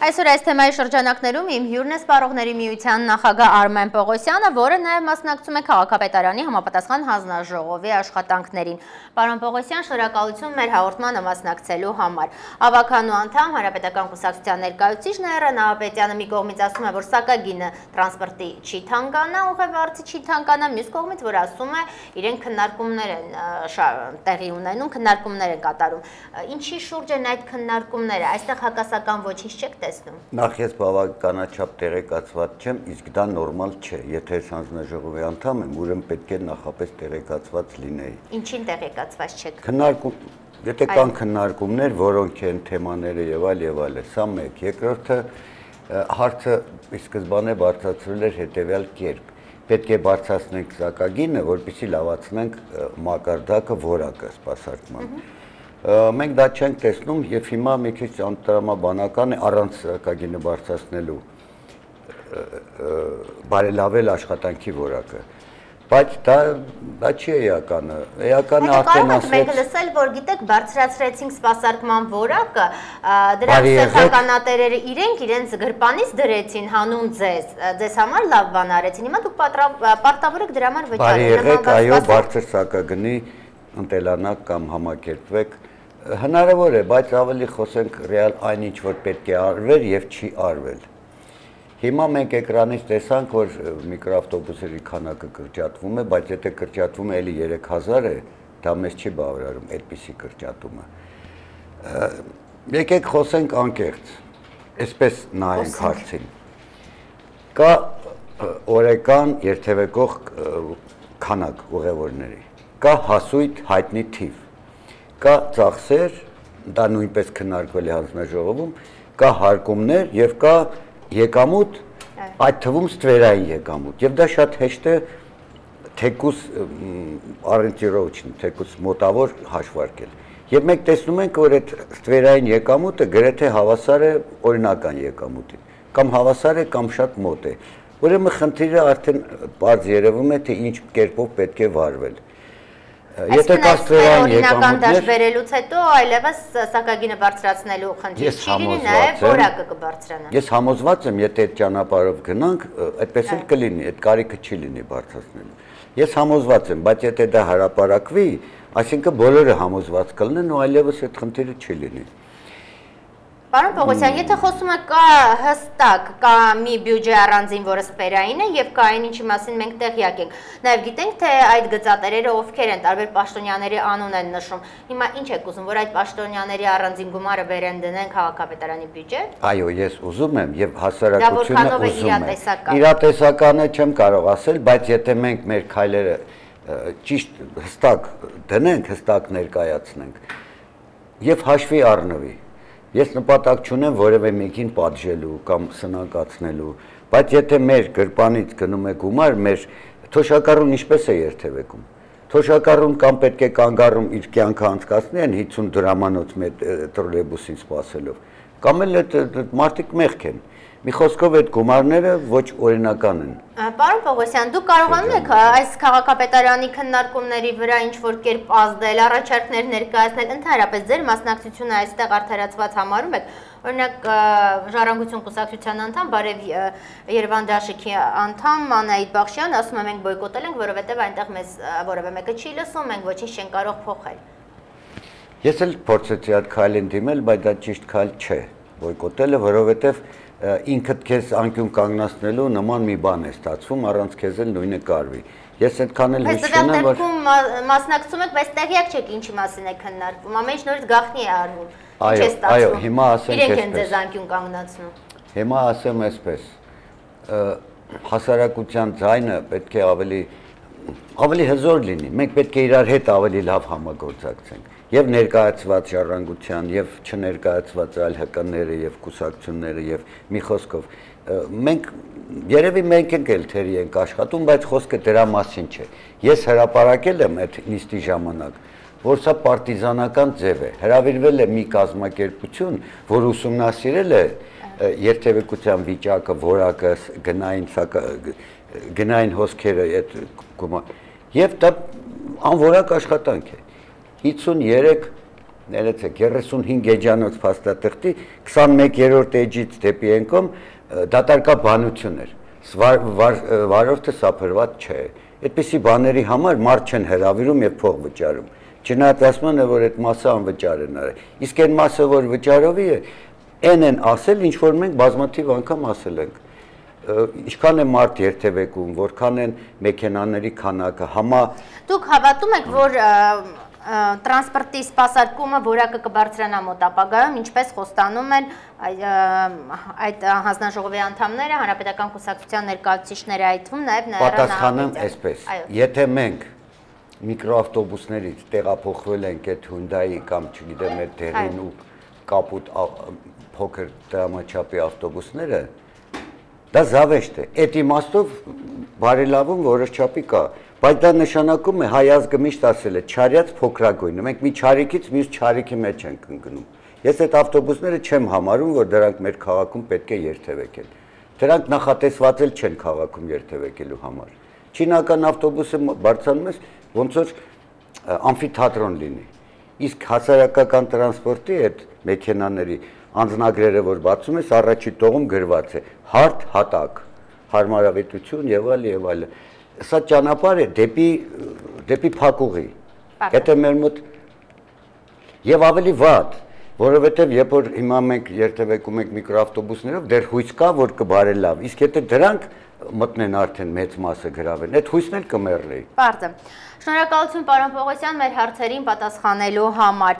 Այսօր այս թեմայի շրջանակներում իմ հյուրն է Սպառողների միության նախագահ Արմեն Պողոսյանը, որը նաև մասնակցում է քաղաքապետարանի համապատասխան հանձնաժողովի աշխատանքներին։ Պարոն Պողոսյան, շնորհակալություն մեր հաղորդմանը մասնակցելու համար։ Ավականու անդամ Հանրապետական կուսակցության ներկայացուցիչ Նաիրա Նահապետյանը մի կողմից ասում է, որ սակագինը տրանսպորտի չի թանկանա, ուղևորցի չի թանկանա, մյուս կողմից որ ասում է, իրենք քննարկումներ են տեղի ունենում, քննարկումներ են կատարում։ Ինչի շուրջ են այդ քննարկումները, այստեղ հակասական ոչինչ չեք տեսնում։ Նախ ես բավականաչափ տեղեկացված չեմ, իսկ դա նորմալ չէ։ Եթե ես հանձնաժողովի անդամ եմ, ուրեմն պետք է նախապես տեղեկացված լինեի։ Ինչին տեղեկացված չեք։ Եթե կան քննարկումներ, որոնք են թեմաները եւ այլ, սա մեկ։ Երկրորդը հարցը ի սկզբանե բարձրացրել էր հետեւյալ կերպ։ Պետք է բարձրացնենք սակագինը, որպեսզի լավացնենք մակարդակը, որակը սպասարկման։ Մենք դա չենք տեսնում եւ հիմա մի քիչ անտրամաբանական է առանց սակագինը բարձրացնելու բարելավել աշխատանքի որակը։ Բայց դա չի էականը։ Էականը արդեն ասեց։ Մենք լսել, որ գիտեք, բարձրացրեցինք սպասարկման որակը, դրանց սեփականատերերը իրենց գրպանից դրեցին հանուն ձեզ համար լավ բան արեցին։ Հիմա դուք պարտավոր եք դրա համար վճարել։ Բարի եղեք, այո, բարձր սակագնի ընտելանաք կամ համակերպվեք։ Հնարավոր է, բայց ավելի խոսենք ռեալ այնինչ, որ պետք է արվեր եւ չի արվել։ Հիմա մենք էկրանից տեսանք, որ միկրոավտոբուսերի քանակը կրճատվում է, բայց եթե կրճատվում է էլի 3000 է, դա մեզ չի բավարարում այդպիսի կրճատումը։ Եկեք խոսենք անկեղծ, այսպես նայենք հարցին։ Կա օրական երթևեկող քանակ ուղևորների, կա հասույթ հայտնի թիվ, կա ծախսեր, դա նույնպես քննարկվել է հանձնաժողովում, կա հարկումներ եւ կա եկամուտ, այդ թվում ստվերային եկամուտ, եւ դա շատ հեշտ է թեկուս առընտիրոջն, թեկուս մոտավոր հաշվարկել։ Եվ մենք տեսնում ենք, որ այդ ստվերային եկամուտը գրեթե հավասար է օրինական եկամուտին, կամ հավասար է, կամ շատ մոտ է։ Ուրեմն խնդիրը արդեն բարձ երևում է, թե ինչ կերպով պետք է վարվել։ Եթե կա ստվերային եկամուտներ, վերելուց հետո այլևս սակագինը բարձրացնելու խնդիր չի լինի, նաև որակը կբարձրանա։ Ես համոզված եմ, եթե այդ ճանապարհով գնանք, այդպես էլ կլինի, այդ կարիքը չի լինի բարձրացնելու։ Ես համոզված եմ, բայց եթե դա հրապարակվի, այսինքն բոլորը համոզված կլինեն ու այլևս այդ խնդիրը չի լինի։ Պարոն Պողոսյան, եթե խոսում եք կա հստակ, կա մի բյուջե առանձին, որը սպերային է եւ կա այն ինչի մասին մենք տեղյակ ենք։ Նաեւ գիտենք, թե այդ գծատերերը ովքեր են, տարբեր պաշտոնյաների անուն են նշում։ Հիմա ինչ եք ուզում, որ այդ պաշտոնյաների առանձին գումարը վերեն դնեն քաղաքապետարանի բյուջե։ Այո, ես ուզում եմ եւ հասարակությունը ուզում է։ Իրատեսականը չեմ կարող ասել, բայց եթե մենք մեր քայլերը ճիշտ հստակ դնենք, հստակ ներկայացնենք եւ հաշվի առնվի, ես նպատակ չունեմ որևէ մեկին պատժելու կամ սնանկացնելու, բայց եթե մեր գրպանից գնում է գումար, մեր թոշակառուն ինչպես է երթևեկում։ Թոշակառուն կամ պետք է կանգառում իր կյանքը անցկացնի այն 50 դրամանոց տրոլեյբուսին սպասելով, կամ էլ այդ մարդիկ մեղք են։ Մի խոսքով այդ գումարները ոչ օրինական են։ Պարոն Պողոսյան, դուք կարողանում եք այս քաղաքապետարանի քննարկումների վրա ինչ-որ կերպ ազդել, առաջարկներ ներկայացնել, ընդհանրապես ձեր մասնակցությունը այստեղ արդարացված համարում եք։ Օրինակ Ժառանգություն կուսակցության անդամ, Բարև Երևան դաշինքի անդամ Անահիտ Բախշյան ասում է, մենք բոյկոտել ենք, որովհետև այնտեղ մեզ որևէ մեկը չի լսում, մենք ոչինչ չենք կարող փոխել։ Ես էլ փորձեցի այդ քայլին դիմել, բայց դա ճիշտ քայլ չէ։ Բոյկոտելը, որովհետև ինքդ քեզ անկյուն կանգնացնելու նման մի բան է ստացվում, առանց քեզ էլ նույնը կարվի։ Ես այդքան էլ հույս չունեմ, որ մասնակցում եք, բայց տեղյակ չեք ինչի մասին է քննարկվում, ամեն ինչ նորից գաղտնի է արվում։ Այո, հիմա ասենք իրենք են ձեզ անկյուն կանգնացնում։ Հիմա ասեմ այսպես, հասարակության ձայնը պետք է ավելի հզոր լինի, մենք պետք է իրար հետ ավելի լավ համագործակցենք։ Եվ ներկայացված ժառանգության, եւ չներկայացված այլ հկանները եւ կուսակցությունները եւ մի խոսքով երևի մենք էլ թերի ենք աշխատում, բայց խոսքը դրա մասին չէ։ Ես հրապարակել եմ այդ նիստի ժամանակ, որ սա պարտիզանական ձև է։ Հրավիրվել է մի կազմակերպություն, որ ուսումնասիրել է երթևեկության վիճակը, որակը, գնային հոսքերը այդ եւ դա անորակ աշխատանք է։ 53 ներեցեք 35 էջանոց փաստաթղթի 21-րդ էջից դեպի ենկոմ դատարկա բանություն էր։ Վարորդը սափրված չէ։ Այդպիսի բաների համար մարդ չեն հրավիրում եւ փող վճարում։ Չնայած ասում են, որ այդ մասը անվճար են արել։ Իսկ այն մասը, որ վճարովի է, են ասել, ինչ որ մենք բազմաթիվ անգամ ասել ենք։ Ինչքան է մարդ երթևեկում, որքան են մեքենաների քանակը, համա Դուք հավատում եք, որ տրանսպորտի սպասարկումը որակը կբարձրանա մոտ ապագայում, ինչպես խոստանում են այդ հանձնաժողովի անդամները, հանրապետական կուսակցության ներկայացուցիչները այդ թվում նաև պատասխանեմ այսպես։ Եթե մենք միկրոավտոբուսներից տեղափոխվել ենք այդ Hyundai կամ չգիտեմ այդ դեղին ու կապուտ փոքր դրամաչափի ավտոբուսները, դա զավեշտ է։ Այդ իմաստով բարելավում որոշ չափի կա, բայց դա նշանակում է հայ ազգը միշտ ասել է չարյաց փոքրագույնը։ Մենք մի չարիքից մյուս չարիքի մեջ ենք ընկնում։ Ես այդ ավտոբուսները չեմ համարում, որ դրանք մեր քաղաքում պետք է երթևեկեն։ Դրանք նախատեսված էլ չեն քաղաքում երթևեկելու համար։ Չինական ավտոբուսը բարձրանում ես, ոնց որ ամֆիթատրոն լինի։ Իսկ հասարակական տրանսպորտի այդ մեքենաների անձնագրերը, որ բացում ես, առաջի տողում գրված է հարթ հատակ, հարմարավետություն եւ այլ։ Սա ճանապարհ է դեպի փակուղի։ Եթե մեր մոտ եւ ավելի վատ, որովհետեւ երբ որ հիմա մենք երթևեկում ենք միկրոավտոբուսներով, դեռ հույս կա, որ կբարելավ։ Իսկ եթե դրանք մտնեն արդեն մեծ մասը գրավեն, այդ հույսն էլ կմեռնի։ Պարզ է։ Շնորհակալություն պարոն Պողոսյան մեր հարցերին պատասխանելու համար։